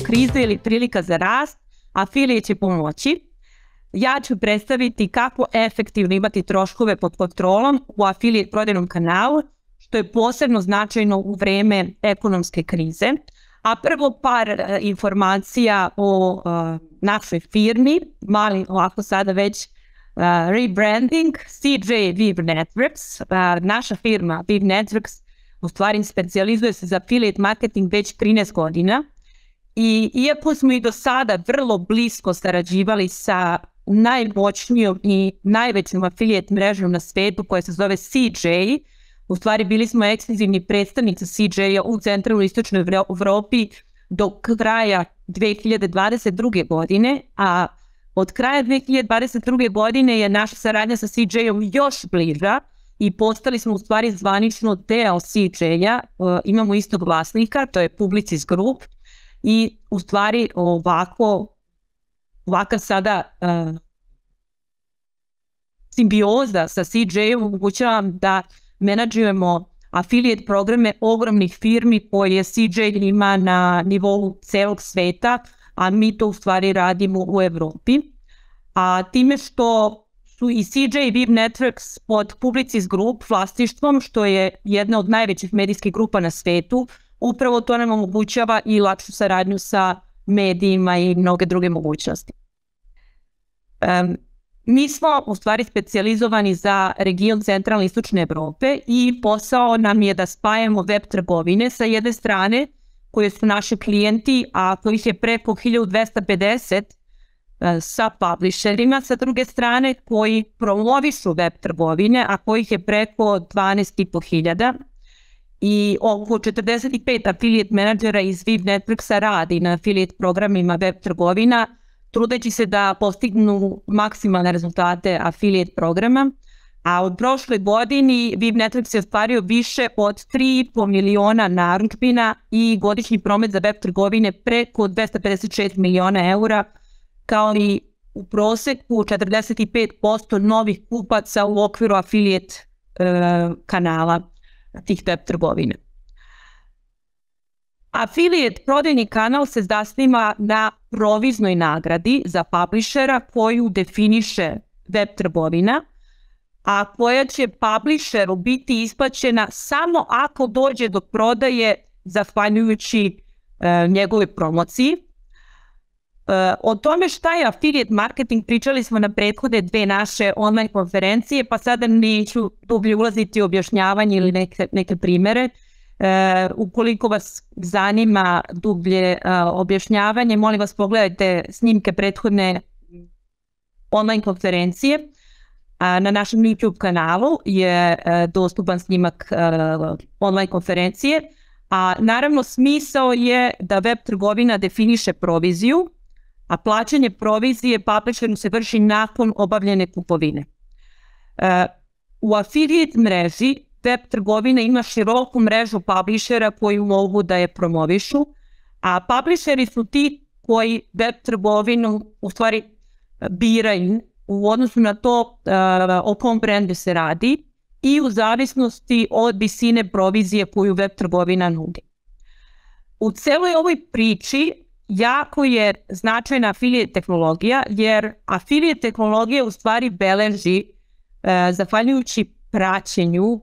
krize ili prilika za rast, afilijet će pomoći. Ja ću predstaviti kako efektivno imati troškove pod kontrolom u afilijet prodajnom kanalu, što je posebno značajno u vreme ekonomske krize. A prvo par informacija o našoj firmi, mali ovako sada već rebranding, CJ Viv Networks. Naša firma Viv Networks u stvari specijalizuje se za affiliate marketing već 13 godina i iako smo i do sada vrlo blisko sarađivali sa najmoćnijom i najvećom affiliate mrežom na svetu koja se zove CJ, u stvari bili smo ekskluzivni predstavnici CJ-a u centralnoj i istočnoj Evropi do kraja 2022. godine, a od kraja 2022. godine je naša saradnja sa CJ-om još bliža i postali smo u stvari zvanično deo CJ-a, imamo istog vlasnika, to je Publicis Group i u stvari ovaka sada simbioza sa CJ-om omogućava da menadžujemo affiliate programe ogromnih firmi koje CJ ima na nivou celog sveta, a mi to u stvari radimo u Evropi. A time što su i CJ i Viv Networks pod Publicis Group vlasništvom, što je jedna od najvećih medijskih grupa na svetu, upravo to nam omogućava i lakšu saradnju sa medijima i mnoge druge mogućnosti. Mi smo u stvari specijalizovani za region centralne i istočne Evrope i posao nam je da spajamo web trgovine sa jedne strane koje su naši klijenti, a kojih je preko 1250 sa publisherima, sa druge strane koji promovišu web trgovine, a kojih je preko 12.500 i oko 45 affiliate menadžera iz Viv Networksa radi na affiliate programima web trgovina, trudeći se da postignu maksimalne rezultate affiliate programa, a od prošle godini Viv Networks je ostvario više od 3,5 miliona narudžbina i godišnji promet za web trgovine preko 256 miliona eura, kao i u proseku 45% novih kupaca u okviru affiliate kanala tih web trgovina. Affiliate prodajni kanal se zasniva na proviznoj nagradi za publishera koju definiše web trgovina, a koja će publisheru biti isplaćena samo ako dođe do prodaje zahvaljujući njegove promociji. O tome šta je affiliate marketing pričali smo na prethodne dve naše online konferencije, pa sada neću dublje ulaziti u objašnjavanje ili neke primere. Ukoliko vas zanima dublje objašnjavanje, molim vas pogledajte snimke prethodne online konferencije. Na našem YouTube kanalu je dostupan snimak online konferencije, a naravno smisao je da web trgovina definiše proviziju, a plaćanje provizije publisheru se vrši nakon obavljene kupovine. U affiliate mreži web trgovina ima široku mrežu publishera koji mogu da je promovišu, a publisheri su ti koji web trgovinu u stvari biraju u odnosu na to o kom brendu se radi i u zavisnosti od visine provizije koju web trgovina nudi. U celoj ovoj priči jako je značajna affiliate tehnologija, jer affiliate tehnologija u stvari beleži, zahvaljujući praćenju,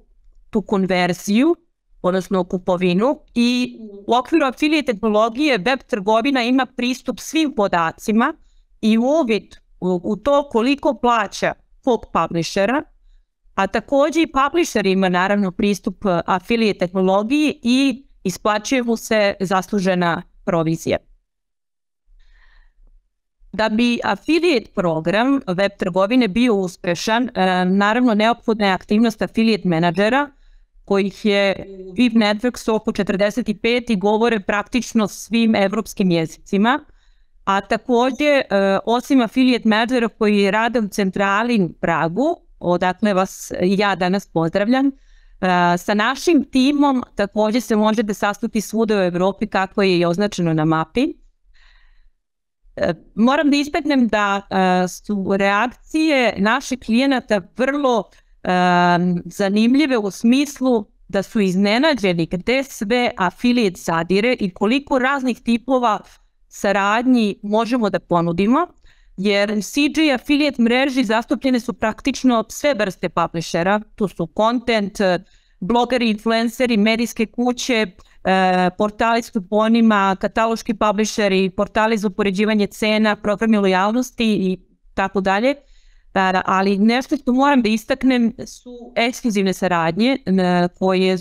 tu konverziju, odnosno kupovinu, i u okviru affiliate tehnologije web trgovina ima pristup svim podacima i uvid u to koliko plaća kog publishera, a takođe i publisher ima naravno pristup affiliate tehnologiji i isplaćuje mu se zaslužena provizija. Da bi affiliate program web trgovine bio uspešan, naravno neophodna je aktivnost affiliate menadžera, kojih je Viv Networks oko 45 i govore praktično svim evropskim jezicima, a takođe osim affiliate menadžera koji rade u centrali u Pragu, odakle vas ja danas pozdravljam, sa našim timom takođe se možete sastati svuda u Evropi kako je i označeno na mapi. Moram da istaknem da su reakcije naših klijenata vrlo zanimljive u smislu da su iznenađeni gde sve affiliate zadire i koliko raznih tipova saradnji možemo da ponudimo, jer CJ affiliate mreži zastupljene su praktično sve vrste publishera, tu su content, blogeri, influenceri, medijske kuće, portali s kuponima, kataloški publisheri, portali za upoređivanje cena, programi lojalnosti i tako dalje. Ali nešto što moram da istaknem su ekskluzivne saradnje koje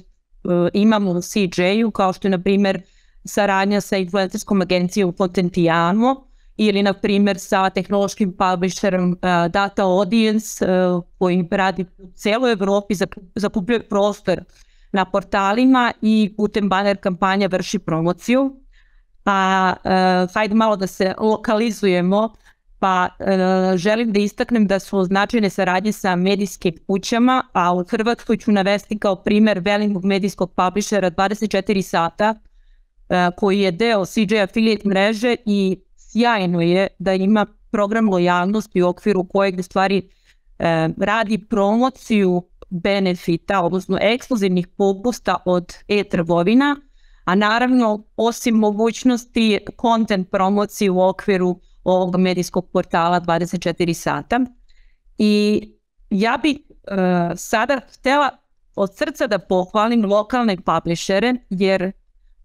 imamo u CJ-u, kao što je, na primjer, saradnja sa influencerskom agencijom Contentijano ili, na primjer, sa tehnološkim publisherom Data Audience koji radi u celoj Evropi, zakupljuje prostor na portalima i putem banner kampanja vrši promociju. Hajde malo da se lokalizujemo, pa želim da istaknem da su značajne saradnje sa medijskim kućama, a u Hrvatskoj ću navesti kao primer velikog medijskog publishera 24 sata, koji je deo CJ affiliate mreže i sjajno je da ima program lojalnosti u okviru kojeg u stvari radi promociju benefita, odnosno ekskluzivnih popusta od e-trgovina, a naravno osim mogućnosti content promocije u okviru ovog medijskog portala 24 sata. I ja bih sada htjela od srca da pohvalim lokalne publishere, jer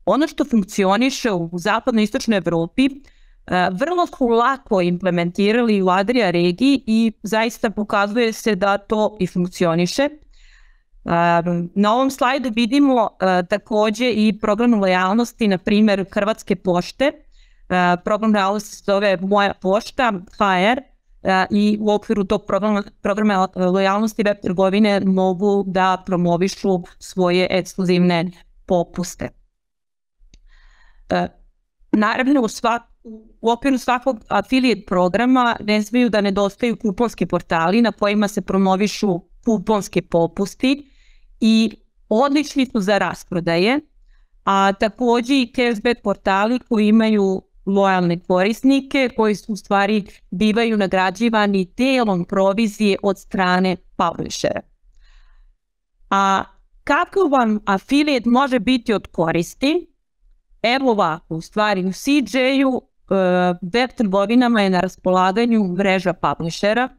ono što funkcioniše u zapadno-istočnoj Evropi vrlo su lako implementirali u Adria regiji i zaista pokazuje se da to i funkcioniše. Na ovom slajdu vidimo također i program lojalnosti, na primjer Hrvatske pošte. Program lojalnosti se zove Moja pošta, HR, i u okviru tog programa lojalnosti web trgovine mogu da promovišu svoje ekskluzivne popuste. Naravno, u okviru svakog affiliate programa ne smiju da nedostaju kuponski portali na kojima se promovišu kuponski popusti i odlični su za rasprodaje, a također i cashback portali koji imaju lojalne korisnike koji su u stvari bivaju nagrađivani delom provizije od strane publishera. A kako vam affiliate može biti od koristi? Evo ovako, u stvari u CJ-u web trgovinama je na raspolaganju mreža publishera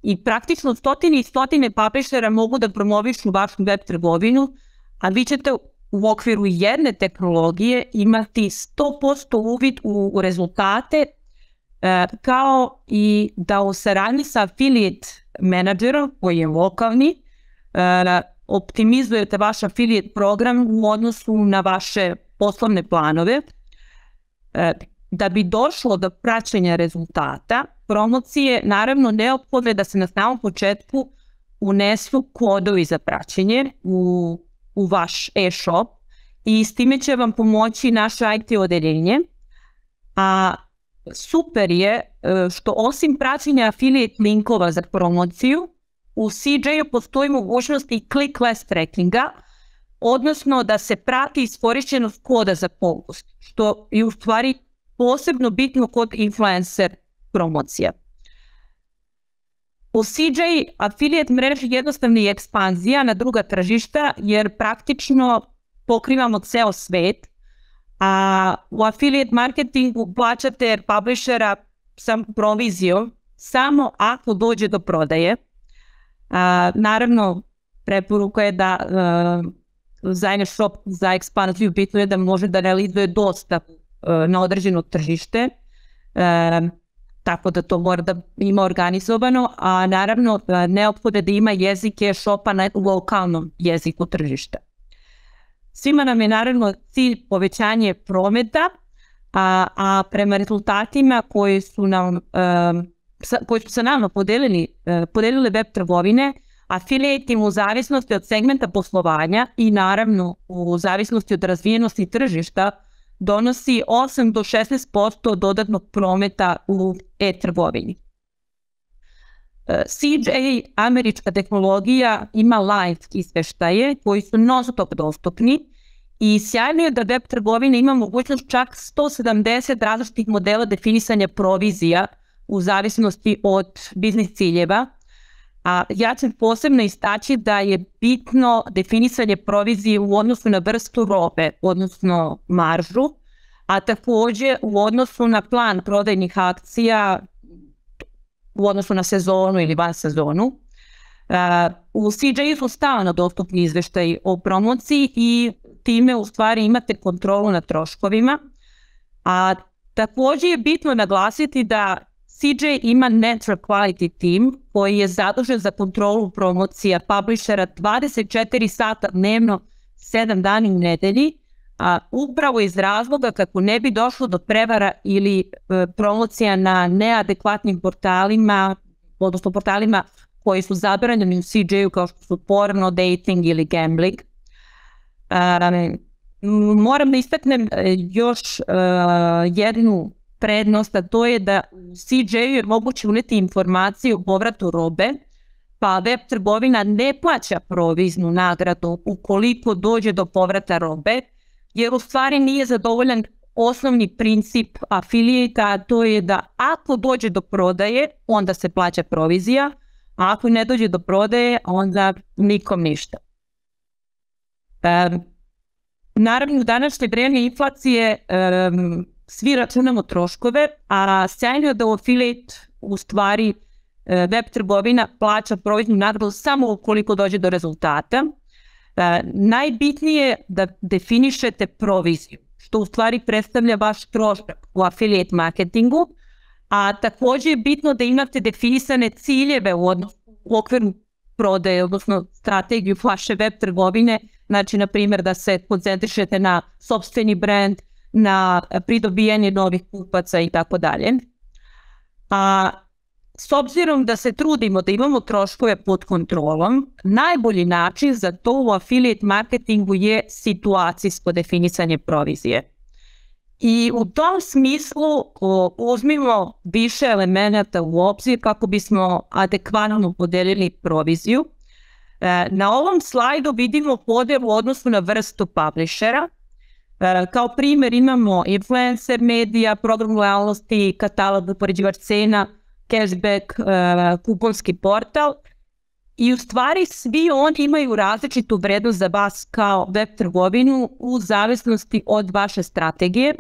i praktično stotine i stotine publishera mogu da promovišu vašu web trgovinu, a vi ćete u okviru jedne tehnologije imati 100% uvid u rezultate, kao i da u saradnji sa affiliate menadžerom koji je lokalni optimizujete vaš affiliate program u odnosu na vaše poslovne planove. Da bi došlo do praćenja rezultata promocije, naravno neophodno je da se na samom početku unesu kodovi za praćenje u vaš e-shop i s time će vam pomoći naše IT odeljenje. A super je što osim praćenja affiliate linkova za promociju, u CJ-u postoji mogućnost i clickless trackinga, odnosno da se prati iskorišćenost koda za popust, što je u stvari posebno bitno kod influencer promocija. U CJ affiliate mreži jednostavna je ekspanzija na druga tržišta jer praktično pokrivamo ceo svet, a u affiliate marketingu plaćate publishera sa provizijom samo ako dođe do prodaje. Naravno, preporuka je da za jedan shop za ekspanziju bitno je da može da realizuje dostavu na određeno tržište, tako da to mora da ima organizovano, a naravno neophodno je da ima jezik e-shopa na lokalnom jeziku tržišta. Svima nam je naravno cilj povećanje prometa, a prema rezultatima koji su sa nama podelile web trgovine, affiliate im u zavisnosti od segmenta poslovanja i naravno u zavisnosti od razvijenosti tržišta donosi 8 do 16% dodatnog prometa u e-trgovini. CJ, američka tehnologija, ima live izveštaje koji su non-stop dostupni i sjajno je da web trgovina ima mogućnost čak 170 različitih modela definisanja provizija u zavisnosti od biznis ciljeva. A ja ću posebno istaći da je bitno definisanje provizije u odnosu na vrstu robe, odnosno maržu, a takođe u odnosu na plan prodajnih akcija u odnosu na sezonu ili van sezonu. U CJ su stalno dostupni izveštaj o promociji i time u stvari imate kontrolu nad troškovima, a takođe je bitno naglasiti da CJ ima network quality team koji je zadužen za kontrolu promocija publishera 24 sata dnevno, 7 dana u nedelji, a upravo iz razloga kako ne bi došlo do prevara ili promocija na neadekvatnim portalima, odnosno portalima koji su zabranjeni u CJ-u kao što su porno, dating ili gambling. Moram da istaknem još jednu prednost, a to je da u CJ-u je moguće uneti informacije o povratu robe, pa web trgovina ne plaća proviznu nagradu ukoliko dođe do povrata robe, jer u stvari nije zadovoljan osnovni princip afiliata, a to je da ako dođe do prodaje, onda se plaća provizija, a ako ne dođe do prodaje, onda nikom ništa. Naravno, u današnje vreme inflacije svi računamo troškove, a sjajno je da u affiliate u stvari web trgovina plaća proviznu nagradu samo ukoliko dođe do rezultata. Najbitnije je da definišete proviziju, što u stvari predstavlja vaš trošak u affiliate marketingu, a takođe je bitno da imate definisane ciljeve u okviru prodaje, odnosno strategiju vaše web trgovine, znači na primjer da se koncentrišete na sopstveni brand, na pridobijanje novih kupaca i tako dalje. A s obzirom da se trudimo da imamo troškove pod kontrolom, najbolji način za to u affiliate marketingu je situacijsko definisanje provizije. I u tom smislu uzmimo više elemenata u obzir kako bismo adekvatno podelili proviziju. Na ovom slajdu vidimo podelu u odnosu na vrstu publishera. Kao primjer imamo influencer medija, program lojalnosti, katalog, upoređivač cena, cashback, kuponski portal. I u stvari svi oni imaju različitu vrednost za vas kao web trgovinu u zavisnosti od vaše strategije.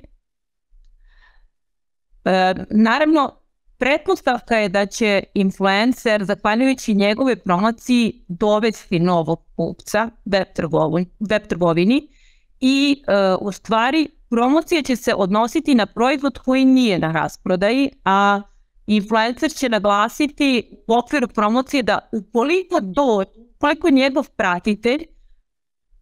Naravno, pretpostavka je da će influencer, zahvaljujući njegove promociji, dovesti novog kupca web trgovini i u stvari promocija će se odnositi na proizvod koji nije na rasprodaji, a influencer će naglasiti u okviru promocije da ukoliko njegov pratitelj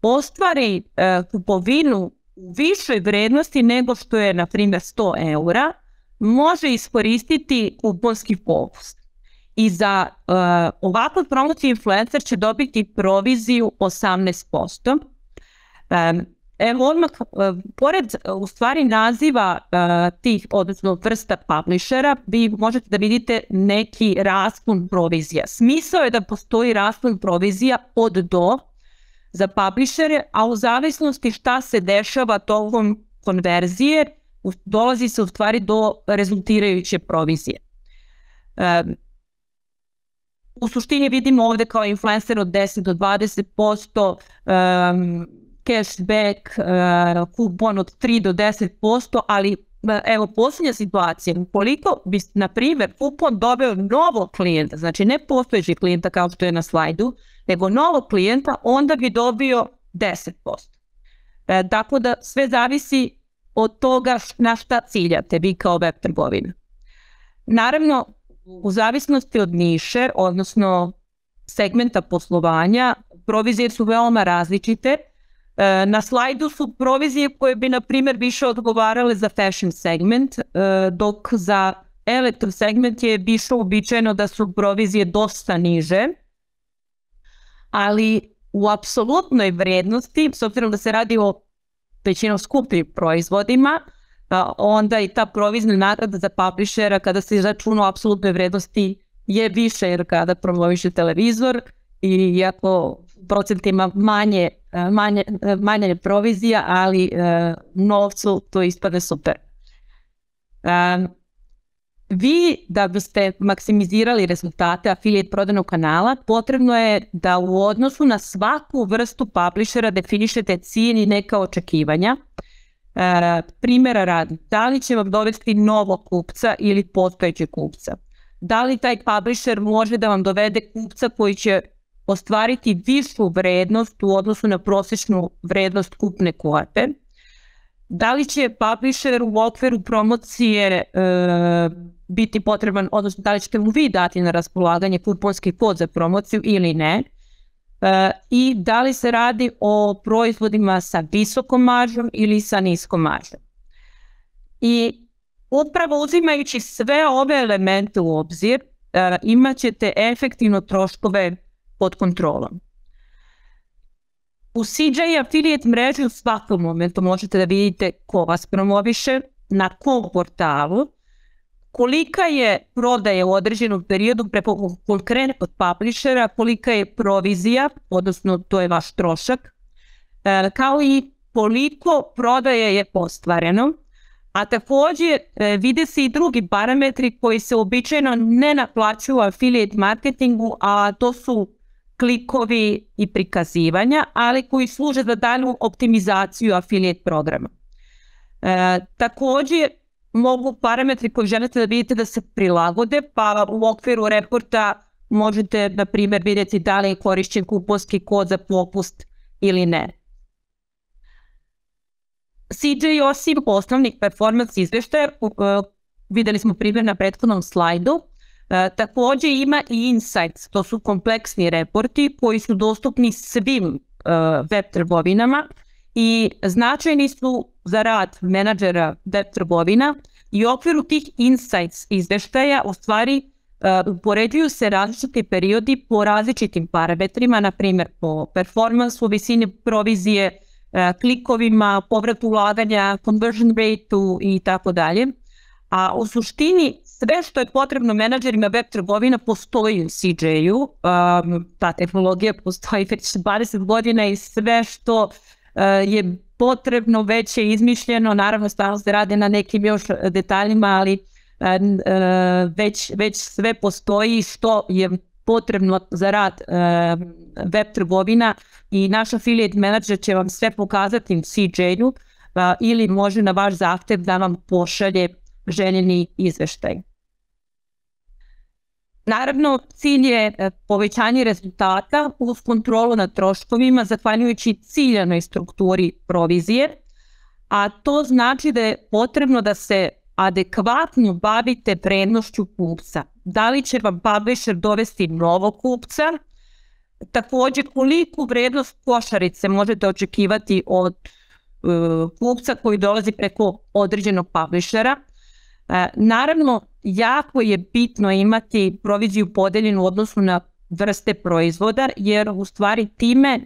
ostvari kupovinu u višoj vrednosti nego što je, na primjer, 100 eura, može iskoristiti kuponski popust. I za ovakvu promociju influencer će dobiti proviziju 18%. Evo odmah, pored u stvari naziva tih, odnosno vrsta publishera, vi možete da vidite neki raspon provizija. Smisao je da postoji raspon provizija od do za publishere, a u zavisnosti šta se dešava tokom konverzije, dolazi se u stvari do rezultirajuće provizije. U suštini vidimo ovde kao influencer od 10 do 20%, cashback, kupon od 3 do 10%, ali evo posljednja situacija, ukoliko bi, na primjer, kupon dobio novog klijenta, znači ne postojeći klijenta kao što je na slajdu, nego novog klijenta, onda bi dobio 10%. Tako da sve zavisi od toga na šta ciljate vi kao web trgovina. Naravno, u zavisnosti od niše, odnosno segmenta poslovanja, provizije su veoma različite. Na slajdu su provizije koje bi, na primjer, više odgovarale za fashion segment, dok za elektro segment je više uobičajeno da su provizije dosta niže, ali u apsolutnoj vrednosti, s obzirom da se radi o većinom skupim proizvodima, onda i ta provizna nagrada za publishera kada se izračuna u apsolutnoj vrednosti je više, jer kada promoviše televizor i iako procentima manje provizija, ali novcu to ispadne super. Vi, da biste maksimizirali rezultate affiliate prodajnog kanala, potrebno je da u odnosu na svaku vrstu publishera definišete cilj i neka očekivanja. Primjera radi, da li će vam dovesti novog kupca ili postojećeg kupca? Da li taj publisher može da vam dovede kupca koji će ostvariti višu vrednost u odnosu na prosječnu vrednost kupne kvote? Da li će publisher u okviru promocije biti potreban, odnosno da li ćete mu vi dati na raspolaganje kuponski kod za promociju ili ne? I da li se radi o proizvodima sa visokom maržom ili sa niskom maržom. I upravo uzimajući sve ove elemente u obzir, imat ćete efektivno troškove pod kontrolom. U CJ Affiliate mreži u svakom momentu možete da vidite ko vas promoviše, na kom portalu, kolika je prodaja u određenom periodu preko konkretnog publishera, kolika je provizija, odnosno to je vaš trošak, kao i koliko prodaje je ostvareno, a također vide se i drugi parametri koji se običajno ne naplaćuju u affiliate marketingu, a to su klikovi i prikazivanja, ali koji služe za dalju optimizaciju affiliate programa. Također, mogu parametri koji želite da vidite da se prilagode, pa u okviru reporta možete, na primjer, vidjeti da li je korišćen kuponski kod za popust ili ne. CJ osim osnovnih performance izveštaja, videli smo primjer na prethodnom slajdu, također ima i insights, to su kompleksni reporti koji su dostupni svim web trgovinama i značajni su za rad menadžera web trgovina i u okviru tih insights izveštaja u stvari upoređuju se različiti periodi po različitim parametrima, na primjer po performansu, visini provizije, klikovima, povratu ulaganja, conversion rateu i tako dalje. A u suštini sve što je potrebno menadžerima web trgovina postoji u CJ-u, ta tehnologija postoji već 20 godina i sve što je potrebno već je izmišljeno, naravno stalno se radi na nekim još detaljima, ali već sve postoji što je potrebno za rad web trgovina i naš affiliate manager će vam sve pokazati u CJ-u ili može na vaš zahtev da vam pošalje željeni izveštaj. Naravno, cilj je povećanje rezultata uz kontrolu nad troškovima zahvaljujući ciljanoj strukturi provizije, a to znači da je potrebno da se adekvatno bavite vrednošću kupca. Da li će vam publisher dovesti novog kupca, također koliku vrednost košarice možete očekivati od kupca koji dolazi preko određenog publishera. Naravno, jako je bitno imati proviziju podeljenu u odnosu na vrste proizvoda, jer u stvari time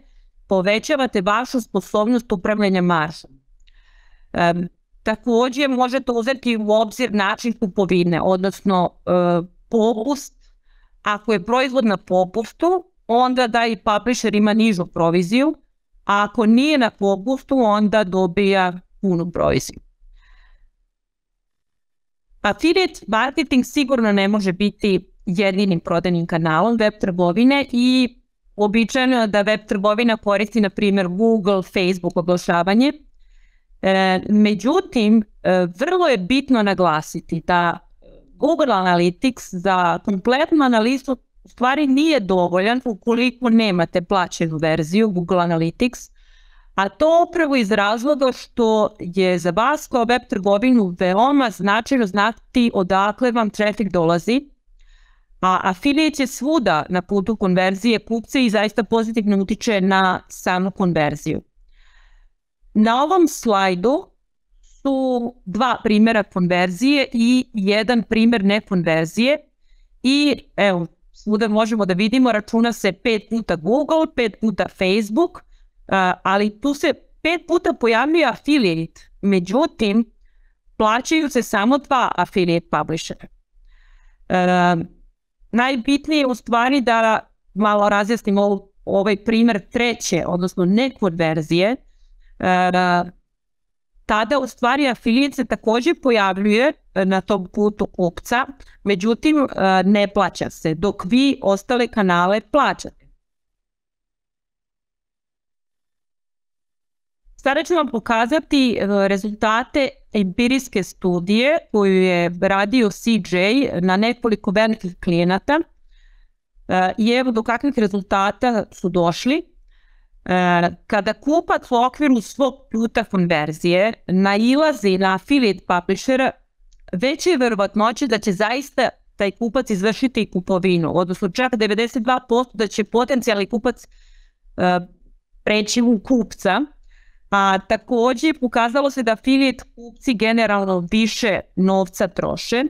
povećavate vašu sposobnost upravljanja maržom. Također možete uzeti u obzir način kupovine, odnosno popust. Ako je proizvod na popustu, onda da i publisher ima nižu proviziju, a ako nije na popustu, onda dobija punu proviziju. Affiliate marketing sigurno ne može biti jedinim prodajnim kanalom web trgovine i uobičajeno je da web trgovina koristi, na primjer, Google, Facebook oglašavanje. Međutim, vrlo je bitno naglasiti da Google Analytics za kompletnu analizu u stvari nije dovoljan ukoliko nemate plaćenu verziju Google Analytics, a to upravo iz razloga što je za vas kao web trgovinu veoma značajno znati odakle vam trafik dolazi, a affiliate je svuda na putu konverzije kupce i zaista pozitivno utiče na samu konverziju. Na ovom slajdu su dva primjera konverzije i jedan primjer nekonverzije i evo, svuda možemo da vidimo, računa se 5 puta Google, 5 puta Facebook, ali tu se 5 puta pojavljuje affiliate, međutim, plaćaju se samo 2 affiliate publishera. Najbitnije je u stvari da malo razjasnimo ovaj primjer treće, odnosno nekonverzije. Tada u stvari affiliate se također pojavljuje na tom putu kupca, međutim ne plaća se, dok vi ostale kanale plaćate. Sada ću vam pokazati rezultate empirijske studije koju je radio CJ na nekoliko velikih klijenata i evo do kakvih rezultata su došli. Kada kupac u okviru svog puta konverzije nailazi na affiliate publishera, veća je verovatnoća da će zaista taj kupac izvršiti kupovinu, odnosno čak 92% da će potencijalni kupac preći u kupca. A takođe pokazalo se da affiliate kupci generalno više novca troše.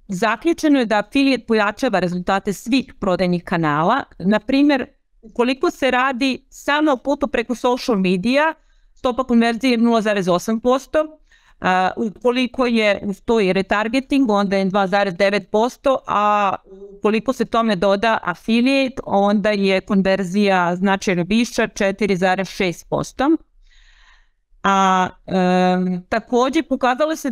Zaključeno je da affiliate pojačava rezultate svih prodajnih kanala. Na primjer, ukoliko se radi samo o putu preko social medija, stopa konverzije je 0,8%. Ukoliko je uz to i retargeting, onda je 2,9%, a ukoliko se tome doda affiliate, onda je konverzija značajno viša, 4,6%. Takođe pokazalo se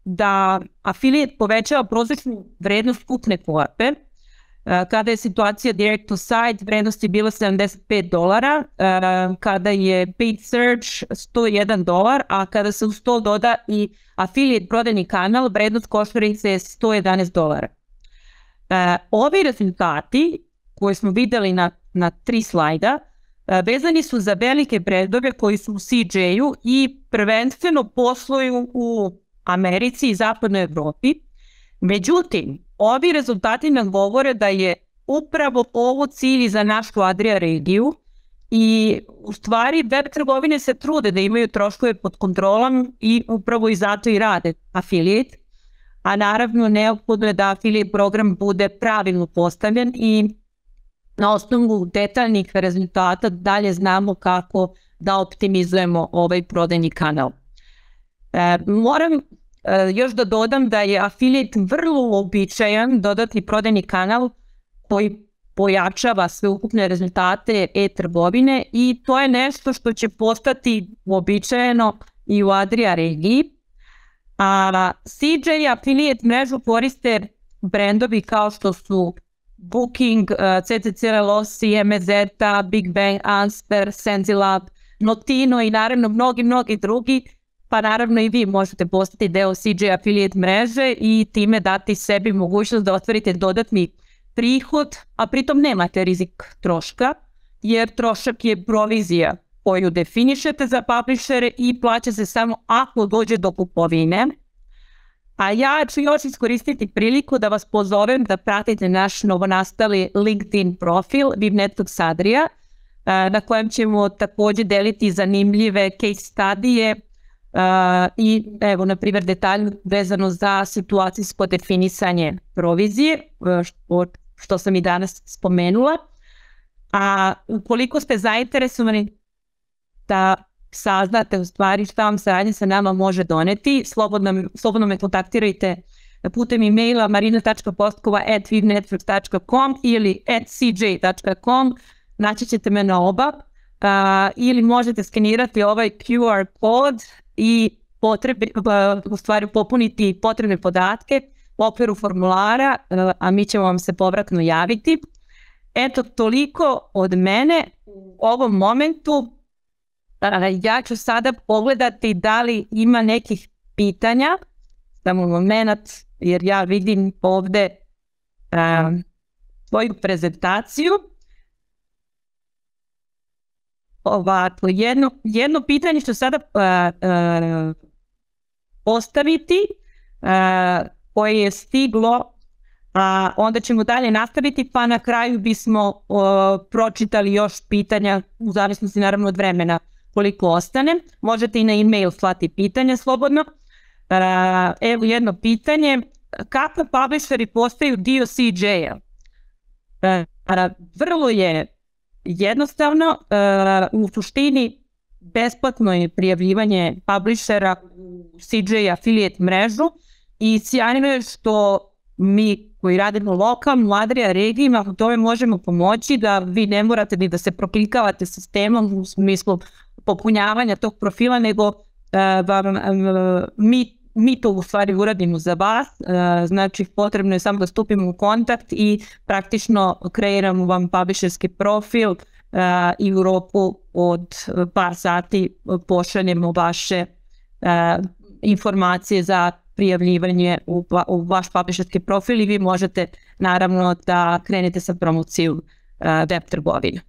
da affiliate povećava prosječnu vrednost kupne korpe. Kada je situacija direct to site, vrednost je bila $75, kada je paid search $101, a kada se uz to doda i affiliate prodajni kanal, vrednost košarice je $111. Ovi rezultati koje smo videli na 3 slajda vezani su za velike brendove koji su u CJ-u i prvenstveno posluju u Americi i zapadnoj Evropi. Međutim, ovi rezultati nam govore da je upravo ovo cilj za našu Adria regiju i u stvari web trgovine se trude da imaju troškove pod kontrolom i upravo i zato i rade affiliate, a naravno neophodno je da affiliate program bude pravilno postavljen i na osnovu detaljnih rezultata dalje znamo kako da optimizujemo ovaj prodajni kanal. Moram još da dodam da je affiliate vrlo uobičajan dodatni prodajni kanal koji pojačava sveukupne rezultate e-trgovine i to je nešto što će postati uobičajeno i u Adria regiji. CJ affiliate mrežu koriste brendovi kao što su Booking, CCC Losi, MZ, Big Bang, Ansper, Senzilab, Notino i naravno mnogi drugi. Pa naravno i vi možete postati deo CJ affiliate mreže i time dati sebi mogućnost da ostvarite dodatni prihod, a pritom nemate rizik troška, jer trošak je provizija koju definišete za publishere i plaća se samo ako dođe do kupovine. A ja ću još iskoristiti priliku da vas pozovem da pratite naš novonastali LinkedIn profil Webnetworks Adria, na kojem ćemo takođe deliti zanimljive case studije i evo na primjer detalj vezano za situacijsko definisanje provizije, što sam i danas spomenula. A ukoliko ste zainteresovani da saznate u stvari šta vam saradnja sa nama može doneti, slobodno me kontaktirajte putem e-maila marina.postkova@webnetworks.com ili @cj.com, naći ćete me na oba, ili možete skenirati ovaj QR kod i u stvari popuniti potrebne podatke u okviru formulara, a mi ćemo vam se povratno javiti. Eto, toliko od mene u ovom momentu. Ja ću sada pogledati da li ima nekih pitanja, samo moment, jer ja vidim ovde svoju prezentaciju. Ovako, jedno pitanje ću sada postaviti, koje je stiglo, onda ćemo dalje nastaviti, pa na kraju bismo pročitali još pitanja, u zavisnosti naravno od vremena koliko ostane. Možete i na e-mail slati pitanja slobodno. Evo jedno pitanje, kako publisheri postaju dio CJ-a? Vrlo je jednostavno, u suštini besplatno je prijavljivanje publishera u CJ affiliate mrežu i sjajno je što mi koji radimo lokalno u Adria regijima u tome možemo pomoći, da vi ne morate ni da se proklikavate sistemom u smislu popunjavanja tog profila, nego mi to u stvari uradimo za vas. Znači potrebno je samo da stupimo u kontakt i praktično kreiramo vam publisherski profil i u roku od par sati pošaljemo vaše informacije za prijavljivanje u vaš publisherski profil i vi možete naravno da krenete sa promocijom web trgovine.